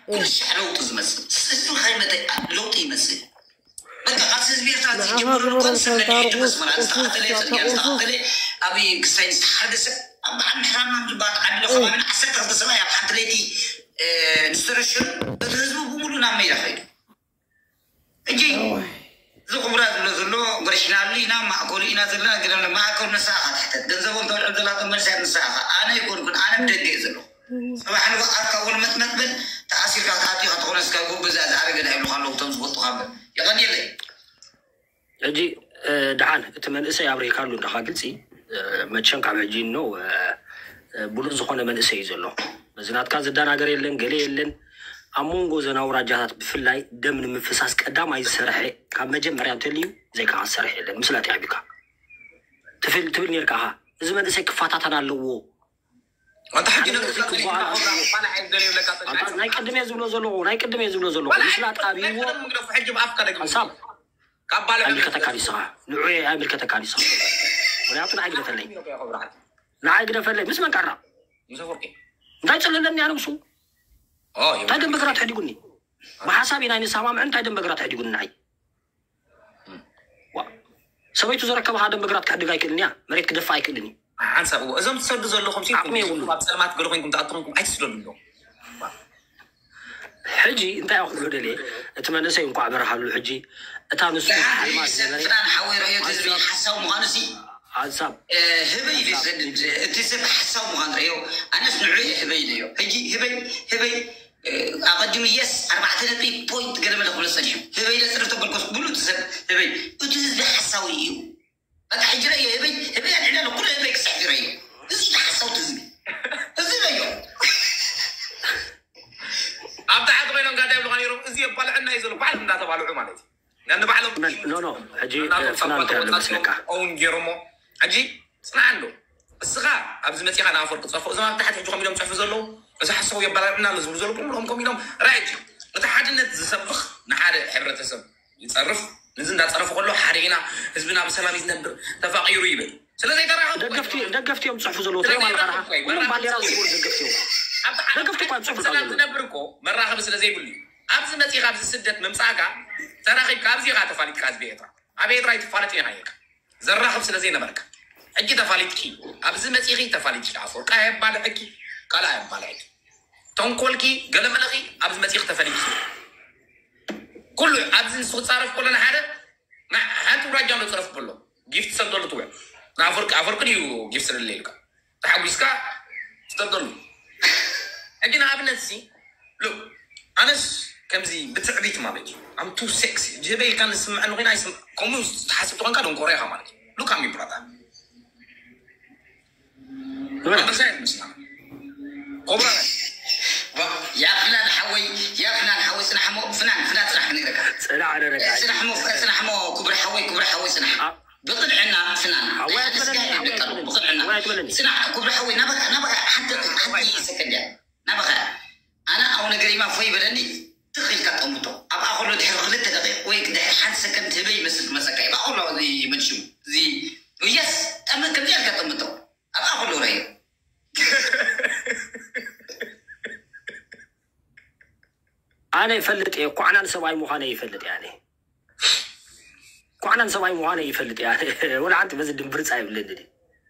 ኩሉ ሻዕ ለውጢ ዝመጽእ ህዝቢ ከይመተ ለውጢ ይመጽእ። በቃ ካብቲ ህዝቢ ኤርትራ ዝጅምር እኮ ንስኻ ተለየ ተመስመራ ንስኻ ተለየ ጽርግያ ንስኻ ተለየ ኣብይ ክስታይ ዝተሓርገ ሰብ ኣብ በዓል ምሕራምና ዝበሃል ዓዲ ለኸባቢን ዓሰርተ ክልተ ሰብኣይ ኣብ ሓንቲ ለይቲ ዝተረሸኑ እቲ ህዝቢ ብምሉ ናብ መይዳ ከይዱ። ሕጂ እዚ ኩብራ ዝብሎ ዘሎ ኦፕሬሽናል ኢና ማእከሉ ኢና ዘለና ግደ ማእከሉ ንስኻ ትሕተት ገንዘቦም ተውዕል ዘላቶ መልሲ ንስኻ ኣነ ይኮንኩን ኣነ ብደገ እየ ዘለኹ። ጽባሕ ንግሆ ኣርካ እውን መጥመጥ በል ተኣሲርካ ክትኣትዩ ክትኾነስካ ጎበዝ እያ ዝኣረገ ዳ ይብሉኻ ኣለዉ እቶም ዝፈልጡኻ እምበር። የቐንየለይ። ሕጂ ደሓን እቲ መንእሰይ ኣብሪካሉ እንዳኻ ግልፂ መቸም ካብ ሕጂ ኖ ብሉፅ ዝኾነ መንእሰይ እዩ ዘሎ። በዚ ናትካ ዝደናገር የለን ገለ የለን። ኣብ መንጎ ዘን ኣውራጃታት ብፍላይ ደም ንምፍሳስ ቀዳማይ ዝሰርሐ ካብ መጀመርያ እንተልዩ ዘይከዓ ዝሰርሐ የለን። ምስላ ተያቢካ ትብል ትብል ነርካ። እዚ መንእሰይ ክፋታተን ኣለዎ። ኣንታ ሕጂ ናይ ቅድም እየ ዝብሎ ዘለኹ ናይ ቅድም እየ ዝብሎ ዘለኹ ምስላ ጣቢዎ ሕጂ ብኣፍካ ደግም ሓሳብ ካብ ባለ ኣይምልከተካ ዲስኻ ንዑ ኣይምልከተካ ዲስኻ ምክንያቱ ንዓይ ግደፈለይ ንዓይ ግደፈለይ ምስ መን ቀራ ምስ ኣፈወርቂ እንታይ ጽልለኒ ኣነ ምስ ኦ እንታይ ደንበ ግራት ሕዲጉኒ ብሓሳብ ኢና ንሰማምዕ እንታይ ደንበ ግራት ሕዲጉኒ ንዓይ ዋ ሰበይቱ ዘረከበ ሓደ ደንበ ግራት ክሕድግ ኣይክእልን እያ መሬት ክደፋ ኣይክእልን እዩ ሓንሳብ እዎ እዞም ትሰዱ ዘለኹም ሲ ዓቕሚ የብሉን። ኣብ ጸልማት ገለ ኮይንኩም ትኣቱ ኮይንኩም ኣይትስደዱ ኣለዉ ሕጂ እንታይ ክብሎ ደልየ እቲ መንእሰይ እንኳዕ በርሃሉ ሕጂ እታ ንሱ ኣልማዝ ነበረ ፍናን ሓወይ ረእዮ ህዝቢ ሓሳብ ምዃኑ ሲ ሓንሳብ ህበይ እዩ ዝሰድድ እቲ ሰብ ሓሳብ ምዃኑ ረእዮ ኣነስ ንዑ እየ ህበይ ኢለዮ ሕጂ ህበይ ህበይ ኣቐዲሙ የስ ኣርባዕተ ነጥቢ ፖይንት ገለመለ ክብሎ ጸኒሑ ህበይ ለጽርፍ ተበልኮስ ብሉ እቲ ሰብ ህበይ እቲ ህዝቢ ሓሳዊ እዩ በቃ ሕጂ ረእዮ ህበይ ህበይ ኣልዕላ ኩሉ ህበይ ክስሕግ ረእዮ እዚ ሓሳውቲ ህዝቢ እዚ ረእዮ ኣብ ታሕቲ ኮይኖም ጋዳ ይብሉካ ነይሮም እዚ የባልዐና እዩ ዘሎ ባዕሎም እንዳተባልዑ ማለት እዩ ነንባዕሎም ኖ ኖ ሕጂ ፍናን እንታይ ኣሎ መስለካ ውን ገይሮሞ ሕጂ ጽናዕ ኣሎ እስኻ ኣብዚ መፂኻ ንኣፈወርቂ ፀፎ እዞም ኣብ ታሕቲ ሕጂ ከም ኢሎም ፅሕፉ ዘለዉ እዚ ሓሳቡ የባላዕና ኣሎ ዝብሉ ዘለዉ ብምልኦም ከም ኢሎም ራእጂ እቲ ሓድነት ዝሰብኽ ንሓደ ሕብረተሰብ ይፀርፍ ንዚ እንዳፀረፉ ከሎ ሓደ ኢና ህዝብና ብሰላም ይዝነብር ተፋቂሩ ይብል ስለዘይተራኸቡ ደገፍቲ ደገፍቲ እዮም ፅሕፉ ዘለዉ ትሪኦም ኣለኻ ኩሎም ባንዴራ ዝስውሩ ደገፍቲ እዮም ደገፍቲ እኳ ፅሕፉ ሰላም ዝነብር እኮ መራኸቢ ስለዘይብሉ እዩ ኣብዚ መፂኻ ኣብዚ ስደት ምምፃእካ ተራኺብካ ኣብዚ ኢኻ ተፋሊጥካ ህዝቢ ኤርትራ ኣብ ኤርትራ ይትፋለጥ ኢና ኢልካ ዘራኽብ ስለ ዘይነበርካ ሕጂ ተፋሊጥኪ ኣብዚ መፂኺ ተፋሊጥኪ ኣፍወርቂ ኣየባልዐኪ ካልእ ኣየባልዐኪ ተንኮልኪ ገለመለኺ ኣብዚ መፂኺ ተፈሊጥኪ ኩሉ ኣብዚ ንሱ ክፃረፍ ከሎ ንሓደ ሓንቲ ውራጃ ኣሎ ፅረፍ ከሎ ጊፍት ሰደሉ ትውዕል ንኣፍወርቂ ኣፍወርቂ ድዩ ጊፍት ስደለ ኢልካ ተሓጒስካ ትጠልጠሉ ሕጂ ንኣብነት ሲ ሉክ ኣነስ ከምዚ ብትዕቢት ማለት እዩ ኣም ቱ ሴክሲ ጅበይ ኢልካ ንስምዐኒ ኮይና ከምኡ ትሓስብ ተኾንካ ደንቆሮ ኢኻ ማለት እዩ ሉክ ኣሚ ብራታ ኮብራ ያ ፍናን ሓወይ ያ ፍናን ሓወይ ጽናሕሞ ፍናን ፍናን ጽናሕ ክንግረካ ጽናሕ ደረጋ ጽናሕሞ ጽናሕሞ ክብሪ ሓወይ ክብሪ ሓወይ ጽናሕ ብቕድዕና ፍናን ብቕድዕና ጽናሕ ክብሪ ሓወይ ናበኻ ናበኻ ሓንቲ ሓንቲ ሰከንድ እያ ናበኻ ኣነ ኣው ነገር ኢማ ፎይ በለኒ ትኽ ኢልካ ጠምቶ ኣብኣ ከሎ ድሕሪ ክልተ ደቂቕ ወይ ድሕሪ ሓንቲ ሰከንድ ህበይ ይመስል ክመፀካ እዩ ብኣ ከሎ ይመልሽሙ እዚ የስ ጠመ ከምዚ ኢልካ ጠምቶ ኣብኣ ከሎ ረዮ ኣነ ይፈልጥ እየ ኳዕናን ሰብኣይ ምዃነ ይፈልጥ እየ ኣነ ኳዕናን ሰብኣይ ምዃነ ይፈልጥ እየ ኣነ ወላ ሓንቲ በዚ ድምብርፃ ይብለኒ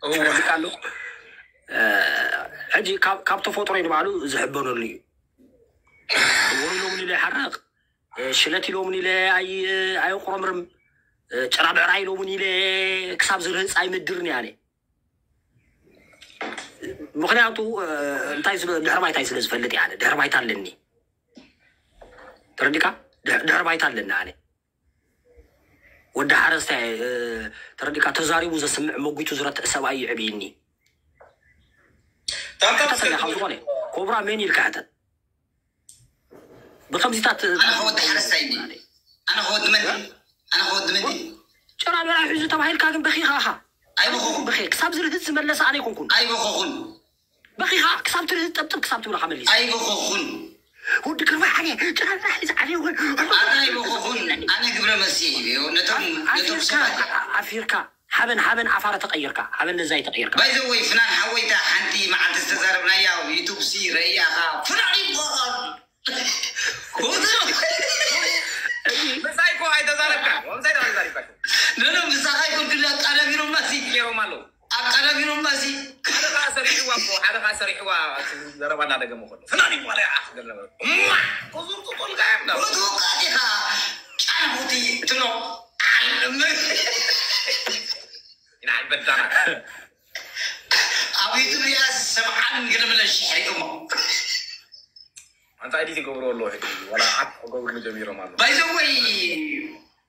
ተረዲካ ኣሎ ሕጂ ካብ ተፈጥሮ ንባዕሉ ዝሕበነሉ እዩ እወሩ ኢሎምን ኢለ ይሓርቕ ሽለት ኢሎምን ኢለ ኣይቁረምርም ጭራ ብዕራ ኢሎምን ኢለ ክሳብ ዝርህፅ ኣይምድርን እየ ኣነ ምክንያቱ እንታይ ድሕሪ ባይታይ ስለ ዝፈልጥ እየ ድሕሪ ባይታ ኣለኒ ተረዲካ ድሕሪ ባይታ ኣለኒ ኣነ ወዲ ሓረስታይ ተረዲካ ተዛሪቡ ዘስምዕ መጒቱ ዝረትዕ ሰብኣይ ይዕብይኒ ተሰሚዕካ ዝኾነ ኮብራ መን ኢልካ ሕተት ብከምዚታት ኣነ ከወዲ ሓረስታይ እኒ ኣነ ከወዲ መን ኣነ ከወዲ መን ጭራ በራ ሒዙ ተባሂልካ ግን በኺኻ ኢኻ ኣይበኸኹን በኺ ክሳብ ዝርህዝ ዝመለሰ ኣነ ኣይኮንኩን ኣይበኸኹን በኺኻ ክሳብ ትርህዝ ጠብጥብ ክሳብ ትብለካ መሊስ ኣይበኸኹን ወዲ ግርማ ዓለ ጭራ በራ ሒዙ ዓለ እውን ኣነ ኣይበኸኹን ኣነ ግብረ መልሲ ነቶም ነቶም ኣፊርካ ሰባት ኣፊርካ ሓበን ሓበን ኣፋረ ተቀይርካ ሓበን ነዛይ ተቀይርካ ባይዘወይ ፍናን ሓወይታ ሓንቲ መዓልቲ ዝተዛረብናያ ኣብ ዩቱብ ሲ ረእያኻ ፍናን ይበሃል ዘረባ እናደገመ ከሎ ፍላን ይባል ይዓኽ ገለ ነበረ። እማ! ቁዙር ቁጡል ጋር ነው። ርቱቃት ኢኻ ጫንሁቲ ትሎ። ኢና በዳና። ኣብ ኢትዮጵያ ሰብዓን ገለ መለ ሽሕሪ እሞ። ኣንታ ኤዲት ይገብሩ ኣለዉ ሕጂ። ዋላ ዓት ክገብሩ ጀሚሮም ኣለዉ። ባይዘወይ፣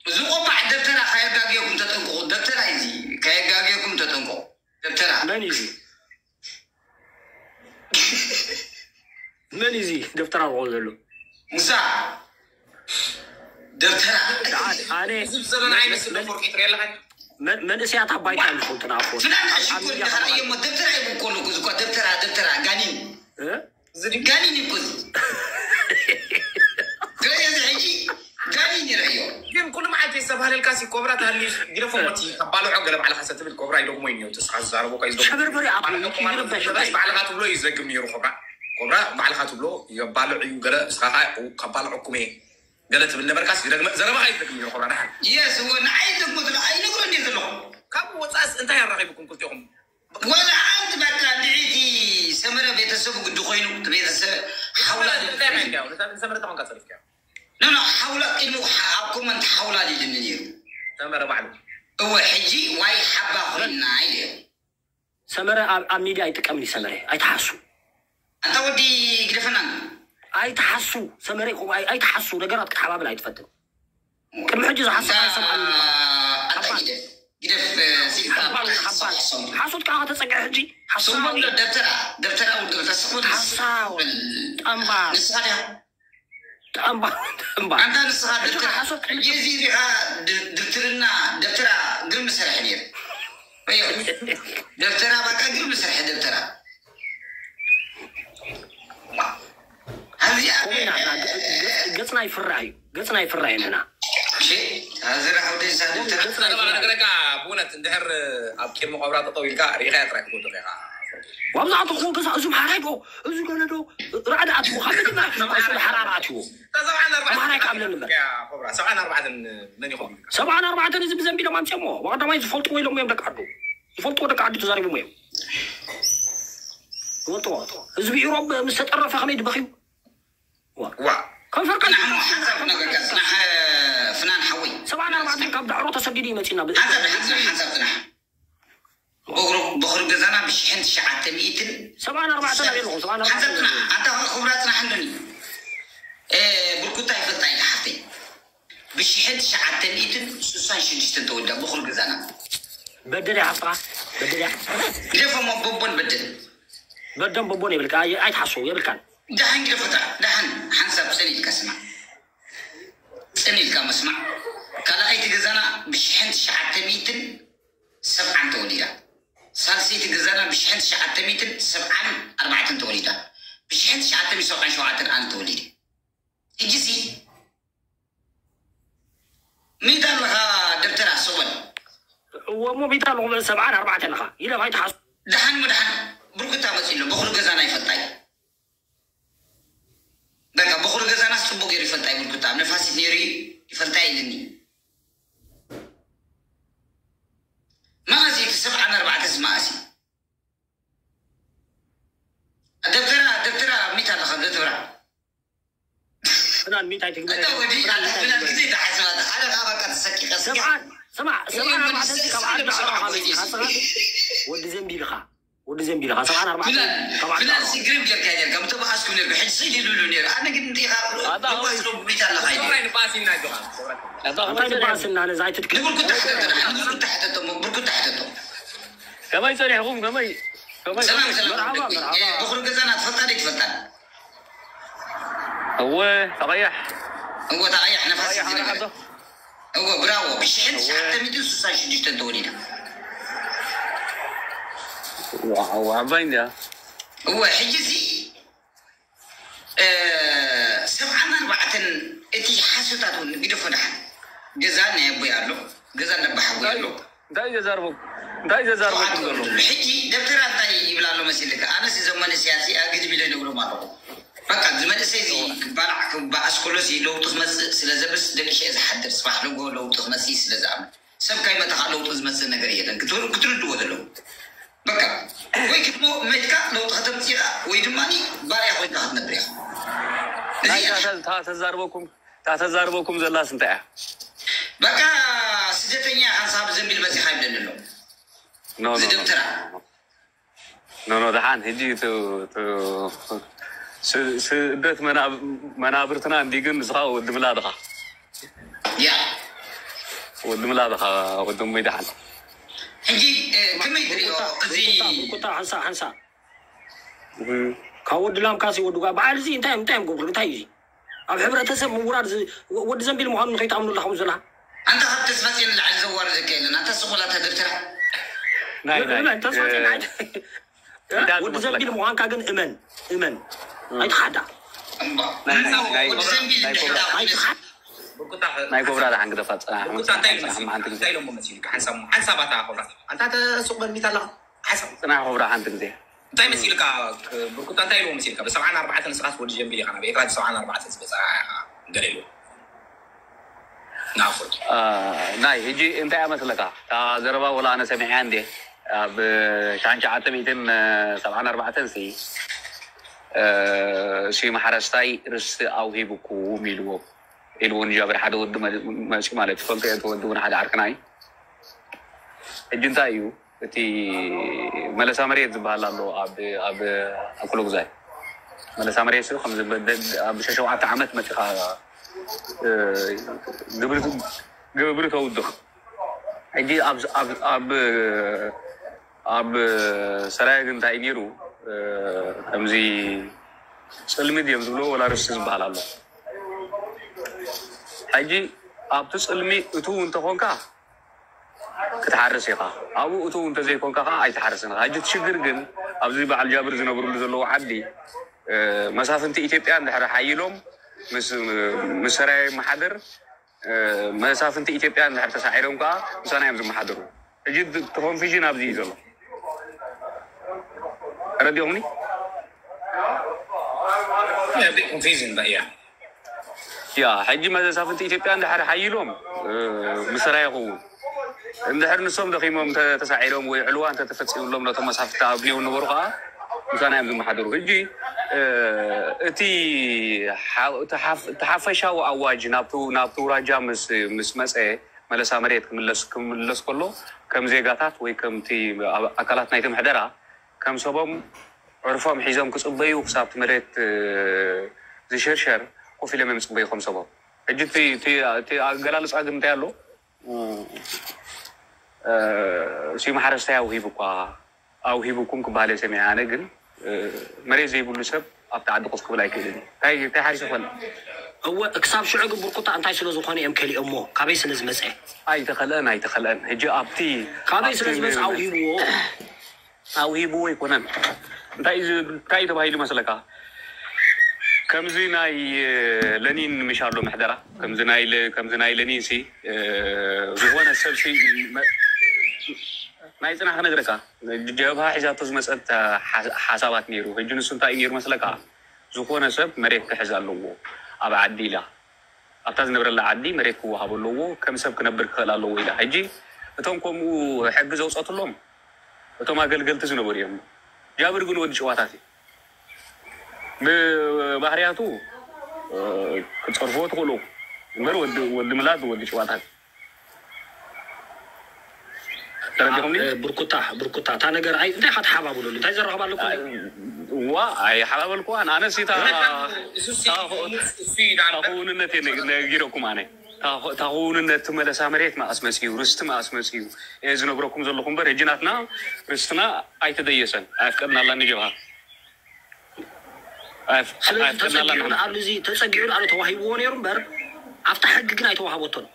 እዚ ቆባዕ ደብተራ ከየጋግየኩም ተጠንቀቑ። ደብተራ እዩ እዚ። ከየጋግየኩም ተጠንቀቑ። ደብተራ። መን እዩ እዚ? መን እዩ እዚ ደብተራ ዝቆም ዘሎ? ሙሳ። ደብተራ። ኣነ ህዝብ ዘመን ኣይመስል መን- ፎርቂ ትርኢ ኣለኻ? መን- መንእሰያት ኣባይታ እዮም ዝፈልጡና እኮ። ፍላን ኣብ- ኣብ ሽኮር ሚድያ ኢኻ ከማን። ርእየሞ፣ ደብተራ ይብኮ ኣለኩ፣ እዚ እኳ ደብተራ፣ ደብተራ፣ ጋኒን። እ? እዚ ድጋሚ እዩ እኮ እዚ። ገለ እዚ ሕጂ ጋኒ ይረኣዮ። ግን ኩሉ መዓልቲ ዝተባህለልካ ሲ ኮብራ ተሃልዩ ግደፎ ሞቲ ከባልዖ ገለ ባዕልኻ ሰትብል ኮብራ ይደግሞ እዩ ነይሩ። ተስኻ ዝዛረቦ እኳ እዩ ዝደግሞ። ሸበርበሪ ኣፕ ባዕልኻ ይረበሽ ባዕልኻ ትብሎ እዩ ዘግም ነይሩ ኮብራ። ኮብራ ባዕልኻ ትብሎ የባልዕ እዩ ገለ እስኻ ኸዓ ከባልዐኩም እየ ገለ ትብል ነበርካስ ይደግመ ዘረባኻ እዩ ዝደግም ነይሩ ኮብራ ደሓን። የስ እወ ንዓይ ደግሞ ትብሎ ኣይነግሮን እየ ዘለኹ። ካብኡ ወፃእስ እንታይ ኣራኺብኩም ክልቲኹም? ወላ ሓንቲ በቃ እንድዒ እቲ ሰመረ ቤተሰቡ ግዲ ኮይኑ እቲ ቤተሰብ ሓውላ እንታይ ራእይካዮ? ነታ ንሰመረ ተኾንካ ጸሪፍካዮ? ኖ ኖ ሓውላ ቅድሚ ኣብ ኮመንት ሓውላ ሊድኒ ነይሩ። ሰመረ ባዕሉ። እወ ሕጂ ዋይ ሓባ ኮይና ኢለ። ሰመረ ኣብ ኣብ ሚድያ ኣይጥቀምን እዩ ሰመረ ኣይትሓሱ። ኣንታ ወዲ ግደፈና። ኣይትሓሱ ሰመረ ይኹ ኣይ- ኣይትሓሱ ነገራት ክትሓባብል ኣይትፈትን። ቅድሚ ሕጂ ዝሓሰብ ኣይሰምዓን እዩ። ኣታ ሓባል። ግደፍ፣ ግደፍ፣ እ፣ ሲልካ ሓባል፣ ሓባል። ሓሶት ከዓ ከተጸግዐ ሕጂ ሓሳዊ። ስምቦ ደብተራ፣ ደብተራ ውድብ ተስፉ ሓሳዊ። ጠምባር። ንስኻ ዲኻ? ጠምባር፣ ጠምባር። ኣንታ ንስኻ ሕጂ ደብተራ። ሓሶት ሕጂ እዚ ዲኻ ድ-፣ ድብትርና ደብተራ ግርም ዝሰርሐ ነይሩ። ኣዮ። ደብተራ በቃ ግርም ዝሰርሐ ደብተራ። ኣብዚኣ ኮሜና፣ ገ-፣ ገ-፣ ገጽና ይፍራሕ እዩ። ገጽና ይፍራሕ እዩ ንሕና። እሺ፣ ኣዚ ራሕውደይ ሳድም ተራ-፣ ገጽና ዘረባ ይፍራሕ እዩ። ነገረካ ብእውነት እንድሕር ኣብ ቂድሚ ቆብራ ጠጠው ኢልካ ርኢኻያ ጥራይ ክትወድቕ ኢኻ። ዋብዛዕቱ ክወገዛ እዙም ሓራይ ዶ፣ እዚ ገለ ዶ፣ ራዕዲ ኣትዎ፣ ካብ መጀመርያ ክሳብ ሓራራ ኣትዎ። እታ ሰብዓን ኣርባዕተን ኣምሓራይ ካብ ለንበር። ያ ኮብራ፣ ሰብዓን ኣርባዕተን መን ይኸውን? ሰብዓን ኣርባዕተን እዚ ብዘንቢሎም ኣምፅኦሞ። ዋቀዳማይ ዝፈልጥዎ ኢሎሞ እዮም ደቂ ዓዱ። ዝፈልጥዎ ደቂ ዓዱ ተዛሪቦሞ እዮም። ዝፈልጥዎ። ህዝቢ ኢሮብ ምስ ተጠረፈ ከመይ ድበኽዩ? ዋ። ዋ። ከንፈርካ ጽናሕ እሞ ሓንሳብ ክነግረካ፣ ጽናሕ፣ ፍናን ሓወይ። ሰብዓን ኣርባዕተን ካብ ዳዕሮ ተሰዲዱ እዩ መጺና። ብ-፣ ሓንሳብ፣ ሓንሳብ፣ ሓንሳብ ጽናሕ። በኹሪ፣ በኹሪ ገዛና ብሽሕን ትሽዓተ ሚእትን ሰብዓን ኣርባዕተን ኣበይ ኣለኹም? ሰብዓን ኣርባዕተን ሓንሳብ ጽናሕ። ኣንታ ክብራ ጽናሕ እንዶኒ። እ፣ ብርኩታ ይፈልጣ ኢለ ሓፍተይ። ብሽሕን ትሽዓተ ሚእትን ስሳን ሽዱሽተን ተወልዳ በኹሪ ገዛና። በደል እያ ሓፍትኻ። በደል እያ። ግደፎሞ በቦን በደል። በደም በቦን ይብልካ። ኣይ-፣ ኣይትሓስቡ የብልካን። ደሓን ግደፎታ፣ ደሓን ሓንሳብ ጽን ኢልካ ስማዕ። ጽን ኢልካ መስማዕ። ካልኣይቲ ገዛና ብሽሕን ትሽዓተ ሚእትን ሰብዓን ተወሊዳ። ሳልሰይቲ ገዛና ብሽሕን ትሽዓተ ሚእትን ሰብዓን ኣርባዕተን ተወሊዳ። ብሽሕን ትሽዓተ ሚእትን ሰብዓን ሸውዓተን ኣነ ተወሊደ። ሕጂሲ ሚእቲ ኣለኻ ደብተራ ስቕ በል። እወ እሞ ሚእቲ ኣለኹ በል፣ ሰብዓን ኣርባዕተን ኣለኻ። ኢለ ኣይትሓስቡ። ደሓን እሞ ደሓን ብርኩታ መጺኡ ኣሎ። በኹሪ ገዛና ይፈልጣ እዩ። በቃ በኹሪ ገዛናስ ጽቡቕ ገይሩ ይፈልጣ እዩ። ብርኩታ ኣብ ነፋሲት ነይሩ እዩ፣ ይፈልጣ እዩ ኢልኒ። መኣስ እዩ እቲ ሰብዓን ኣርባዕተንስ መኣስ እዩ? ደብተራ፣ ደብተራ ሚእቲ ኣለኻ ደብተራ። ፍናን ሚእቲ ኣይትግበረ። እታ ወዲ ፍናን ኣላ፣ ሚእቲ ፍናን ኣይትግበረ። ግዜ ተሓስባ፣ ኣነ ከዓ በቃ ተሰኪፈ፣ ስኪ። ሰብዓን፣ ስማዕ፣ እኔ ሰብዓን ወዲ ኣርባዕተን ካብ ዓዲ ሰብዓን ዓቕኻ መፂኻ፣ ሰብዓን። ስኻ ወዲ ዘንቢልኻ፣ ወዲ ዘንቢልኻ፣ ሰብዓን ኣርባዕተን ፍናን፣ ካብ ዓዲ ፍናን ዓቕኻ። ሲ ግርም ጌርካ ጌርካ፣ ምተባኣስኩ ኔርኩ፣ ሕጂ ስኢል ይብሉ ኔሩ። ኣነ ግን እንዲኻ፣ ኣታ ደባስ ሆይ። ዶ ብሚት ኣለኻ ኢሉ። ሰብራይ ንባእሲ እናጆኻ፣ ሰብራይ። ኣታ እንታይ ሆይ ንባእሲ እና ነዛ ኣይትድክም። ንብርኩታ ሕተቶ፣ ንብርኩታ ሕተቶ፣ እሞ ብርኩታ ሕተቶ። ከመይ ጸኒሕኩም? ከመይ፣ ከመይ፣ ሰላም፣ ከመይ? ሰላም። መርሓባ፣ መርሓባ። እ፣ በኹሪ ገዛና ትፈልጣ ዶ ኣይትፈልጣን? እወ፣ ተቐያሕ። እወ፣ ተቐያሕ ነፋስ ተቐያሕ ዝነበረ። ዓዶ። እወ፣ ብራቮ። ብሽሕን እወ። ትሽዓተ ሚእትን ስሳን ሽዱሽተን ተወሊዳ። ዋው፣ ዓባይ እንድያ። እወ፣ ሕጂ እዚ፣ እ፣ ሰብዓን ኣርባዕተን እቲ ሓሶታት እውን ግደፎ ደሓን። ገዛ ናይ ኣቦይ ኣሎ፣ ገዛ ናይ ኣቦ ሓወይ ኣሎ። እንታይ ዘዛርቦ-፣ እንታይ ዘዛርበኩም ሸውዓተ ዘሎ? ወለዱ። ሕጂ ደብተራ እንታይ ይብላ ኣሎ መሲልካ? ኣነስ እዞም መንእሰያት እዚኣ ግድም ኢለ ይነግሮም ኣለኹ። በቃ፣ እዚ መንእሰይ እዚ ክባላዕ፣ ክበኣስ ከሎ እዚ ለውጢ ክመጽእ ስለ ዘብስ ደቂሸ እየ ዝሓድር፣ ጽባሕ ንግሆ ለውጢ ክመጽእ ስለ ዝኣምን። ሰብ ካይመተኻ ለውጢ ዝመጽእ ነገር የለን። ክትር-፣ ክትርድዎ ዘለዉ። በቃ። ወይ ክትሞ መትካ ለውጢ ከተምፅእ ኢኻ ወይ ድማ ባርያ ኮይንካ ክትነብር ኢኻ። እዚ ናይ እያ። እታ እታ ተዛርበኩም እታ ተዛርበኩም ዘላስ እንታይ እያ? በቃ ስደተኛ ሓንሳብ ዘንቢል በፂኻ ይብለኒ ኣሎ። ኖ ኖ እዚ ኖ ደብተራ ኖ ኖ ደሓን ሕጂ ቱ ቱ ስ- ስደት መናብ- መናብርትና እንዲ ግን ንስኻ ወዲ ምላድኻ ያ ወዲ ምላድኻ ወዲ እሙይ ደሓን ሕጂ እ፣ ከመይ ትሪኦ እዚ ቁጣ ሓንሳ ሓንሳ ካብ ወዲ ላምካሲ ወዲ ጓ በዓል እዚ እንታይ እንታይ እዮም ገብሩ እንታይ እዩ ኣብ ሕብረተሰብ ምውራድ ዝ- ወ- ወዲ ዘንቢል ምዃኑ ንኸይትኣምኑ ኣለኹም ዘላ ኣንታ ካብ ተስፋ ፂዮን ንላዕሊ ዘዋርደካ የለን። ኣንታ ስቕ በል ኣታ ደብተራ ናይ ናይ እመን ተስፋ እ፣ ፂዮን እንታይ ወዲ ትመስለካ? ዘንቢል ምዃንካ ግን እመን እመን ኣይትሓዳ ናይ ናይ ናይ ወዲ ዘንቢል ናይ እንድሕር ኮብራ ደኣ ኣይትሓድ ናይ ኮብራ ደሓን ግደፋ ፅናሕ ብርኩታ እንታይ ኢሉ ፅናሕ መሲልካ? ሓንቲ ግዜ እንታይ ኢሎሞ መሲልካ? ሓንሳብ ሓንሳብ ኣታ ኮብራ ኣንታ ተሱቕ በል ሚታ ኣለኻ ሓንሳብ ፅናሕ ኮብራ ሓንቲ ግዜ እንታይ መሲልካ? ብርኩታ እንታይ ኢልዎ መሲልካ? ብሰብዓን ኣርባዕተን ንስኻስ ወዲ ጀምቢል ኢኻ ናብ ኤርትራ ብሰብዓን ኣርባዕተን ዝበፅኣ ኢኻ ገለ ኢልዎ ናፉት አ፣ ናይ ሕጂ እንታይ እያ መስለካ እታ ዘረባ ወላ ኣነ ሰሚዐያ እንዴ ኣብ ሻንሸዓተ ሚእትን ሰብዓን ኣርባዕተን ሲ እ፣ ስዩም ሓረስታይ ርስቲ ኣውሂብኩም ኢልዎ ኢልዎ ንጃብር ሓደ ወዲ መ- መፂኡ ማለት ትፈልጦ እየ እቲ ወዲ እውን ሓደ ዓርክና እዩ ሕጂ እንታይ እዩ እቲ መለሳ መሬት ዝበሃል ኣሎ ኣብ ኣብ ኣኩለጉዛይ መለሳ መሬት ስኡ ከምዚ በ- ኣብ ሸሸውዓተ ዓመት መፂኻ እ፣ ግብሪ ግብሪ ተውድቕ ሕጂ ኣብ ኣብ ኣብ ኣብ ሰራየ ግን እንታይ ነይሩ እ፣ ከምዚ ፅልሚ ድዮም ዝብሎ ወላ ርስቲ ዝበሃል ኣሎ ሕጂ ኣብቲ ፅልሚ እቱ እንተኾንካ ክትሓርስ ኢኻ ኣብኡ እቱ እንተዘይኮንካ ከዓ ኣይትሓርስን ኢኻ ሕጂ እቲ ሽግር ግን ኣብዚ በዓል ጃብር ዝነብርሉ ዘለዉ ዓዲ እ፣ መሳፍንቲ ኢትዮጵያ እንድሕር ሓይሎም ምስ ምስ ሰራየ መሓደር እ፣ መሳፍንቲ ኢትዮጵያ እንድሕር ተሳዒሮም ከዓ ምሳና እዮም ዝመሓደሩ ሕጂ እቲ ኮንፊዥን ኣብዚ እዩ ዘሎ ረዲኹምኒ ኮንፊዝን በያ ያ ሕጂ መሳፍንቲ ኢትዮጵያ እንድሕር ሓይሎም እ፣ ምሰራ ይኸውን እንድሕር ንሶም ደኺሞም እንተ ተሳዒሮም ወይ ዕልዋ እንተ ተፈፂሙሎም ነቶም መሳፍንቲ ኣብኔው ነበሩ ከዓ ምሳና እዮም ዝመሓደሩ ሕጂ እ፣ እቲ ሓ- እቲ ሓፍ- እቲ ሓፈሻዊ ኣዋጅ ናብቲ ናብቲ ውራጃ ምስ ምስ መፀ መለሳ መሬት ክምለስ ክምለስ ከሎ ከም ዜጋታት ወይ ከምቲ ኣብ- ኣካላት ናይቲ ምሕደራ ከም ሰቦም ዕርፎም ሒዞም ክፅበዩ ክሳብ እቲ መሬት እ፣ ዝሽርሸር ኮፍ ኢሎም እዮም ዝፅበዩ ከም ሰቦም ሕጂ እቲ- እቲ እቲ ኣገላልፃ ግን እንታይ ኣሎ እ፣ ስዩም ሓረስታይ ኣውሂቡ እኳ ኣውሂቡኩም ክበሃል እየ ሰሚዐ ኣነ ግን እ፣ መሬት ዘይብሉ ሰብ ኣብቲ ዓዲ ኮፍ ክብል ኣይክእልን እዩ እንታይ እንታይ ሓሪሱ ክበል እወ ክሳብ ሽዑ ግን ብርኩታ እንታይ ስለ ዝኾነ እዮም ከሊኦሞ ካበይ ስለ ዝመፀ ኣይተኸልአን ኣይተኸልአን ሕጂ ኣብቲ ካበይ ስለ ኣብቲ ዝመፀ ኣውሂብዎ ኣውሂብዎ ኣይኮነን እንታይ እዩ ዝ- እንታይ እዩ ተባሂሉ መስለካ ከምዚ ናይ እ፣ ለኒን ምሽ ኣሎ ምሕደራ ከምዚ ናይ ለ- ከምዚ ናይ ለኒን ሲ እ፣ ዝኾነ ሰብ ሲ መ- ናይ ፅናሕ ክነግረካ ጀብሃ ሒዛቶ ዝመፀት ሓ- ሓሳባት ነይሩ ሕጂ ንሱ እንታይ እዩ ነይሩ መስለካ ዝኾነ ሰብ መሬት ክሕዝ ኣለዎ ኣብ ዓዲ ኢላ ኣብታ ዝነብረላ ዓዲ መሬት ክወሃብ ኣለዎ ከም ሰብ ክነብር ክኽእል ኣለዎ ኢላ ሕጂ እቶም ከምኡ ሕጊ ዘውፀትሎም እቶም ኣገልገልቲ ዝነበሩ እዮም ጃብር ግን ወዲ ጭዋታት እዩ ብባህርያቱ እ፣ ክትፀርፍዎ ትኽእሉ እምበር ወዲ ወዲ ምላድ ወዲ ጭዋታት ተረዲኹምኒ እ፣ ብርኩታ ብርኩታ እታ ነገር ኣይ እንታይ ኢኻ ትሓባብለሉ እንታይ ዘራኽብ ኣለኩም ዋ ኣይሓባበልኩዋን ኣነስ እታ እሱ እታ ክውንነት እየ ነጊረኩም ኣነ እታ ክውንነት መለሳ መሬት መኣስ መፅዩ ርስቲ መኣስ መፅዩ እየ ዝነግረኩም ዘለኹ እምበር ሕጂ ናትና ርስትና ኣይተደየሰን ኣየፍቀድናላን ንጀብሃ ስለዚ ተፀጊዑ ንኣሉ እዚ ተፀጊዑ ንኣሉ ተዋሂብዎ ነይሩ እምበር ኣብታ ሕጊ ግን ኣይተዋሃበቶን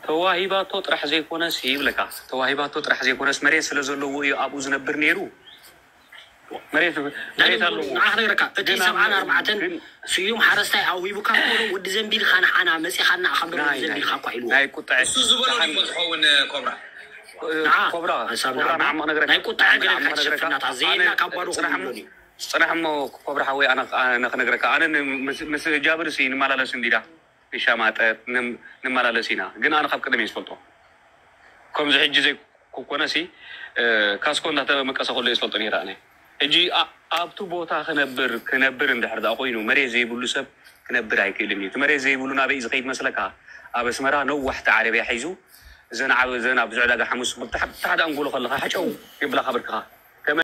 ተዋሂባቶ ጥራሕ ዘይኮነስ ይብለካ ተዋሂባቶ ጥራሕ ዘይኮነስ መሬት ስለ ዘለዎ እዩ ኣብኡ ዝነብር ነይሩ መሬት መሬት ኣለዎ ንዓ ክነግረካ እቲ ግን ኣብ- ሰብዓን ኣርባዕተን ግን ስዩም ሓረስታይ ኣውሂቡካ ኮሎ ወዲ ዘንቢልካ ንዓና መፂኻና ካብ ደሞ ናይ- ዘንቢልካ እኳ ኢልዎ ናይ ቁጥዐ እሱ ዝበሎ ድሞ ዝኸውን ኮብራ ንዓ ኮብራ ሓሳብ ኮብራ ንዓ- ንዓሞ ክነግረካ ናይ ቁጥዐ ገለ ንዓሞ ክነግረካ ሽፍናታት ኣነ ዘየና ካብ ባዶ ፅናሕ ክብሉ እሞ- ፅናሕ እሞ ኮብራ ሓወይ ኣነ ኣነ ክነግረካ ኣነ ን- ምስ- ምስ ጃብር ሲ ንመላለስ እንዲዳ ንሻማጠጥ ንም- ንመላለስ ኢና ግን ኣነ ካብ ቀደም እየ ዝፈልጦ ከምዚ ሕጂ ዘይ ኮነ ሲ ካስኮ እንዳተመቀሰ ከሎ እየ ዝፈልጦ ነይረ ኣነ። ሕጂ ኣብቲ ቦታ ክነብር ክነብር እንድሕር ዳ ኮይኑ መሬት ዘይብሉ ሰብ ክነብር ኣይክእልን እዩ። እቲ መሬት ዘይብሉ ናበይ ዝኸይድ መስለካ? ኣብ ኣስመራ ነዋሕቲ ዓረብያ ሒዙ ዘን ዓብ ዘን ኣብዚ ዕዳጋ ሓሙስ ብታሕቲ ኣንጎሎ ከለካ ሓጨው ይብላካ ብርክኻ።